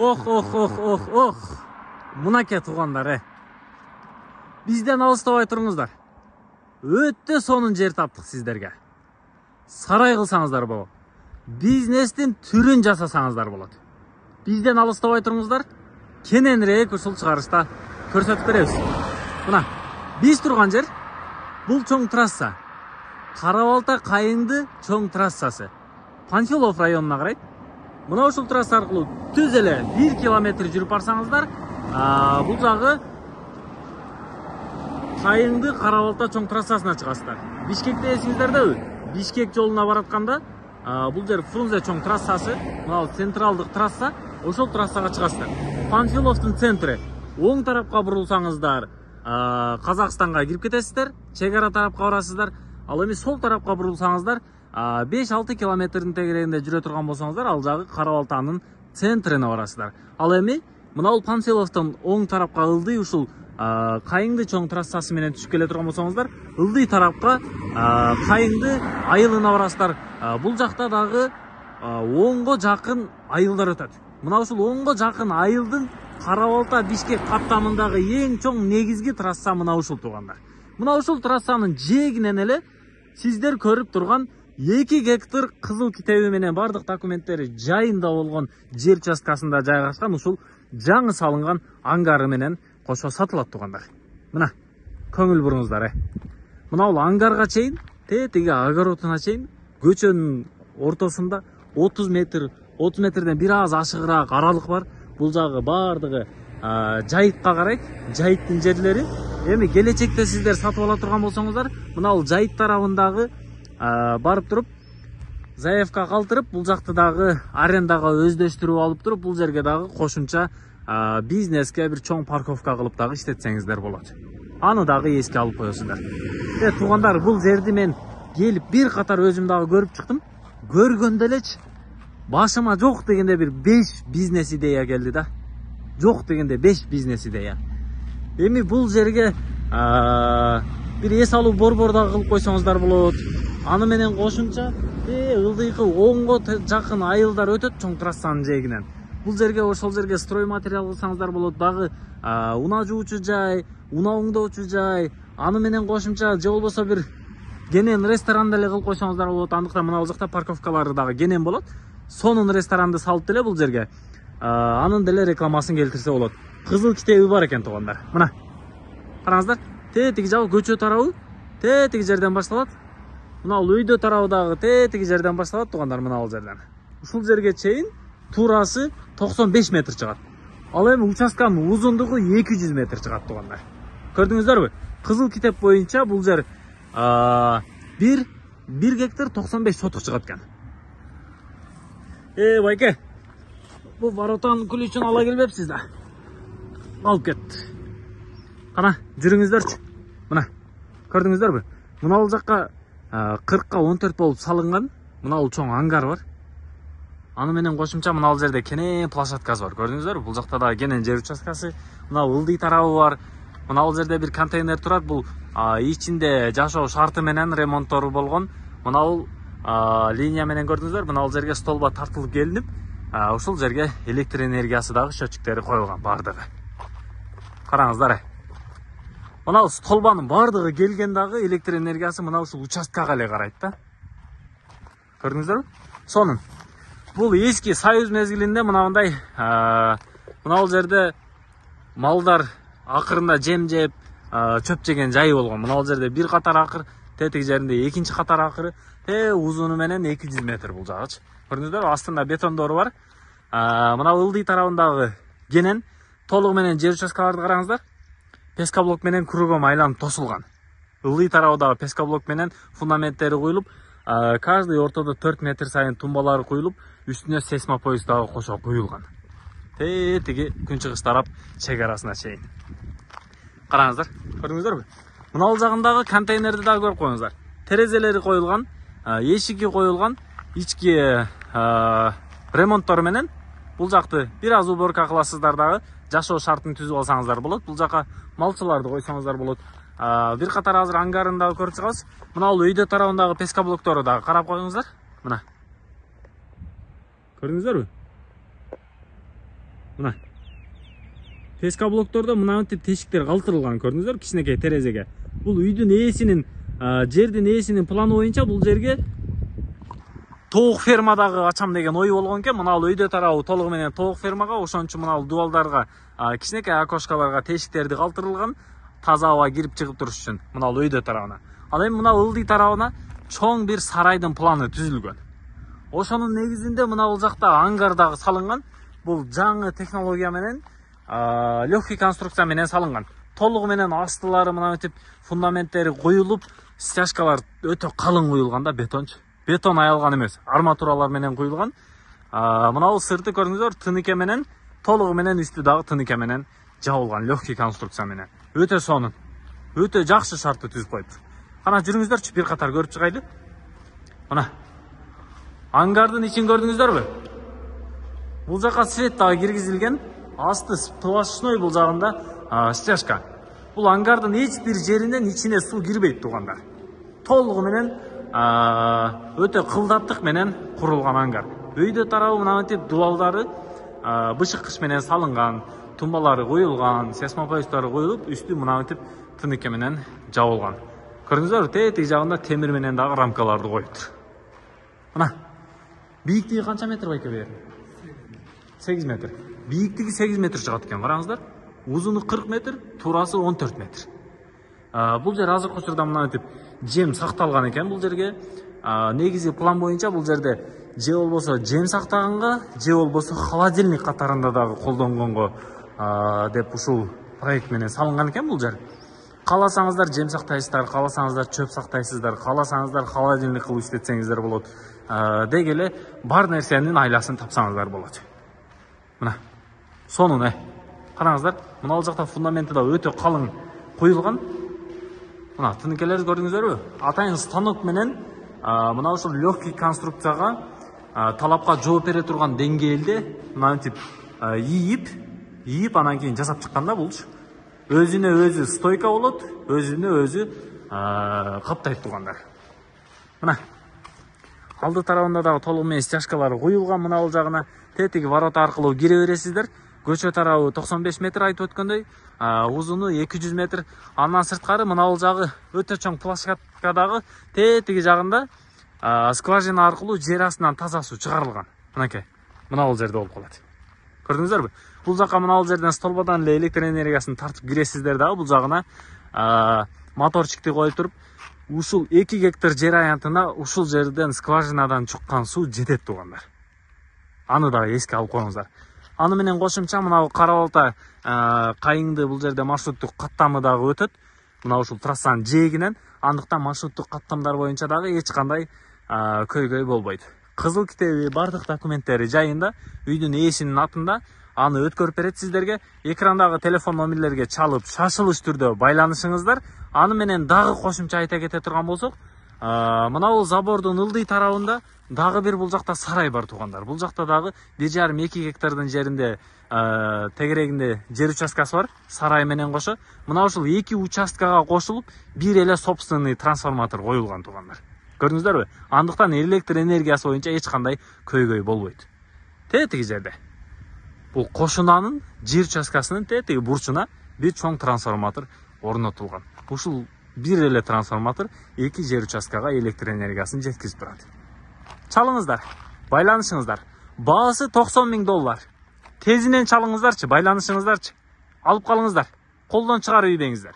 Ох. Мынакей туугандар, бизден алыстабай туруңуздар. Өтө сонун жер таптык сиздерге. Сарай кылсаңыздар болот. Бизнестин түрүн жасасаңыздар болот. Бизден алыстабай туруңуздар. Кененирээк ушул чыгарышта көрсөтүп беребиз. Мына, биз турган жер бул чоң трасса. Кара-Балта Кайыңды чоң трассасы. Панфилов районуна карайт. Мына ушул трасса аркылуу түз эле 1 километр жүрүп барсаңыздар, бул жагы Кайыңды Кара-Балта чоң трассасына чыгасыздар. Бишкекте эсиңиздердеби? Бишкек жолуна баратканда бул жер Фрунзе чоң трассасы, мына централдык трасса, ошол трассага чыгасыздар. Панфиловдун центри. Оң тарапка бурулсаңыздар, Казакстанга кирип кетесиздер, чек ара тарапка барасыздар. Ал эми сол тарапка бурулсаңыздар, 5-6 километрдин тегерегинде жүрө турган болсоңуздар, ал жагы Кара-Балтанын центрине барасыздар. Ал эми мына бул Панфиловдон оң тарапка ылдый ушул Кайыңды чоң трассасы менен түшүп келе турган болсоңуздар, ылдый тарапка Кайыңды айылына барасыздар. Бул жакта дагы 10го жакын айылдар өтөт. Мына ушул 10го жакын айылдын Кара-Балта Бишкек каттамындагы эң чоң негизги трасса мына ушул туугандар. Мына ушул трассанын жээгинен эле сиздер көрүп турган 2 гектар кызыл китеби менен бардык документтери жайында болгон жер участкасында жайгашкан ушул жаңы салынган ангары менен кошо сатылат туугандар. Мына, көңүл буруңуздар. Мына бул ангарга чейин, тетиги огородуна чейин көчөнүн ортосунда 30 метрден бир аз ашыгыраак аралык бар. Бул жагы бардыгы жайытка карайт, жайыттын жерлери. Эми келечекте сиздер сатып ала турган болсоңуздар, мына бул жайыт тарабындагы барып туруп, заявка калтырып, бул жакты дагы арендага өздөштүрүп алып туруп, бул жерге дагы кошумча бизнеске бир чоң парковка кылып дагы иштетсеңиздер болот. Аны дагы эске алып коесуздар. Туугандар, бул жерди мен келип бир катар өзүм дагы көрүп чыктым. Көргөндө элечи башыма жок дегенде бир 5 бизнес идея келди да. Жок дегенде 5 бизнес идея. Эми бул жерге бир эс алуу борбор дагы кылып койсоңуздар болот. Аны менен кошумча ылдыйкы 10го жакын айылдар өтөт чоң трассанын жээгинен. Бул жерге ошол жерге строй материал кылсаңыздар болот, дагы унаа жуучу жай, унаа оңдоочу жай, аны менен кошумча же болбосо бир кенен ресторан деле кылып койсоңуздар болот. Андыктан мына бул жакта парковкалары дагы кенен болот. Сонун ресторанды салып деле бул жерге анын деле рекламасын келтирсе болот. Кызыл китеби бар экен туугандар. Мына караңыздар, тетиги жагы көчө тарабы тетиги жерден башталат. Мына бул үйдө тарабы дагы тетиги жерден башталат туугандар, мына бул жерден. Ушул жерге чейин турасы 95 метр чыгат. Ал эми участканын узундугу 200 метр чыгат туугандар. Көрдүңүздөрбү? Кызыл китеп боюнча бул жер 1 гектар 95 сотук чыгат экен. Байке, бул воротанын ключун ала келбепсиз да? Алып кет. Кана, жүрүңүздөрчү. Мына, көрдүңүздөрбү? Мына бул жакка 40ка 14 болуп салынган, мына бул чоң ангар бар. Аны менен кошумча мына бул жерде кенен площадкасы бар. Көрдүңүздөрбү? Бул жакта да кенен жер участкасы, мына ылдый тарабы бар. Мына бул жерде бир контейнер турат. Бул ичинде жашоо шарты менен ремонттору болгон. Мына бул линия менен көрдүңүздөр, мына бул жерге столба тартылып келинип, ушул жерге электр энергиясы дагы счетчиктери коюлган бардыгы. Караңыздар. Мына бул столбанын бардыгы келген дагы электр энергиясы мына ушул участкага эле карайт да. Көрдүңүздөрбү? Сонун. Бул эски Союз мезгилинде мынандай мына бул жерде малдар акырында жем жеп, чөп жеген жайы болгон. Мына бул жерде бир катар акыр, тетиги жеринде экинчи катар акыры, узуну менен 200 метр бул жагычы. Көрдүңүздөрбү? Астында бетондору бар. Мына ылдый тарабындагы кенен толугу менен жер участкаларды караңыздар. Пескоблок менен кругом айланып тосулган. Ылдый тарабындагы пескоблок менен фундаменттери куюлуп, каждый ортодо 4 метр сайын тумбалары куюлуп, үстүнө сейсмопояс дагы кошо куюлган. Тетиги күнчыгыш тарап чек арасына чейин. Караңыздар, көрдүңүздөрбү? Мына бул жагындагы контейнерди дагы көрүп коюңуздар. Терезелери коюлган, эшиги коюлган, ички ремонттору менен бул жакты бир аз уборка кыласыздар дагы, жашоо шартын түзүп алсаңыздар болот. Бул жака малчыларды койсоңуздар болот. Бир катар азыр ангарын дагы көрүп чыгабыз. Мына бул үйдө тарабындагы пескоблоктору дагы карап коюңуздар. Мына. Көрдүңүздөрбү? Мына ТСК блоктордо мынантип тешиктер калтырылган, көрдүңүздөр, кичинекей терезеге. Бул үйдүн ээсинин, жердин ээсинин планы боюнча бул жерге тоок фермадагы ачам деген ой болгон экен. Мына үйдө тарабы толугу менен тоок фермага, ошон үчүн мына дубалдарга, кичинекей окошкаларга тешиктерди калтырылган, таза аба кирип чыгып туруш үчүн. Мына үйдө тарабына. Ал эми мына ылдый тарабына чоң бир сарайдын планы түзүлгөн. Ошонун негизинде мына бул жакта ангар дагы салынган. Бул жаңы технология менен, легкий конструкция менен салынган. Толугу менен астылары мынантип фундаменттери коюлуп, стяжкалар өтө калың куюлган да, бетончу. Бетон аялган эмес, арматуралар менен куюлган. Мына бул сырты көрдүңүздөр, тыныке менен, толугу менен үстү дагы тыныке менен жабылган, легкий конструкция менен. Өтө сонун, өтө жакшы шартты түзүп коюптур. Кана жүрүңүздөрчү, бир катар көрүп чыгайлы. Мына ангардын ичин көрдүңүздөрбү? Бул жака свет дагы киргизилген. Асты сплошной, бул жагында стяжка. Бул ангардын эч бир жеринен ичине суу кирбейт туугандар. Толугу менен өтө кылдаттык менен курулган ангар. Үйдө тарабы мынантип дубалдары бышык кыш менен салынган, тумбалары коюлган, сейсмопоюстары коюлуп, үстү мынантип тыныке менен жабылган. Көрдүңүздөрбү, тетиги жагында темир менен дагы рамкаларды коюптур. Мына бийиктиги канча метр байке бер? 8 метр. Бийиктиги 8 метр чыгат экен, караңыздар. Узуну 40 метр, туурасы 14 метр. Бул жер азыркы учурда мынантип жем сакталган экен бул жерге. Негизи план боюнча бул жерде же болбосо жем сактаганга, же болбосо холодильник катарында дагы колдонгонго деп ушул проект менен салынган экен бул жер. Кааласаңыздар жем сактайсыздар, кааласаңыздар чөп сактайсыздар, кааласаңыздар холодильник кылып иштетсеңиздер болот. Деги эле бар нерсенин айласын тапсаңыздар болот. Мына сонун, караңыздар, мына ал жакта фундаменти да өтө калың куюлган. Мына тыныкелерди көрдүңүздөрбү? Атайын станок менен мына ушул легкий конструкцияга талапка жооп бере турган деңгээлде мынантип ийип анан кийин жасап чыкканда булчу. Өзүнө өзү стойка болот, өзүнө өзү каптайт туугандар. Мына алды тарабында дагы толугу менен стяжкалары коюлган. Мына бул жагына тетиги ворота аркылуу кире бересиздер. Көчө тарабы 95 метр айтып өткөндөй, узуну 200 метр. Андан сырткары мына бул жагы өтө чоң площадкадагы тетиги жагында скважина аркылуу жер астынан таза суу чыгарылган. Мынакей, мына бул жерде болуп калат. Көрдүңүздөрбү? Бул жака мына бул жерден столбадан эле электр энергиясын тартып киресиздер дагы. Бул жагына моторчикти коюп туруп, ушул 2 гектар жер аянтына ушул жерден скважинадан чыккан суу жетет туугандар. Аны дагы эске алып коюңуздар. Аны менен кошумча мына Кара Балта Кайыңды бул жерде маршруттук каттамы дагы өтөт. Мына ушул трассанын жээгинен, андыктан маршруттук каттамдар боюнча дагы эч кандай көйгөй болбойт. Кызыл китеби, бардык документтери жайында, үйдүн ээсинин атында. Аны өткөрүп берет сиздерге. Экрандагы телефон номерлерге чалып, шашылыш түрдө байланышыңыздар. Аны менен дагы кошумча айта кете турган болсок, мына бул забордун ылдый тарабында дагы бир бул жакта сарай бар туугандар. Бул жакта дагы 1,5-2 гектардын жеринде тегерегинде жер участкасы бар, сарай менен кошо. Мына ушул 2 участкага кошулуп, бир эле собственный трансформатор коюлган туугандар. Көрдүңүздөрбү? Андыктан электр энергиясы боюнча эч кандай көйгөй болбойт. Тетиги жерде бул кошунанын жер участкасынын тетиги бурчуна бир чоң трансформатор орнотулган. Ушул бир эле трансформатор 2 жер участкага электр энергиясын жеткизип турат. Чалыңыздар, байланышыңыздар. Баасы $90,000. Тезинен чалыңыздарчы, байланышыңыздарчы. Алып калыңыздар. Колдон чыгарып ийбеңиздер.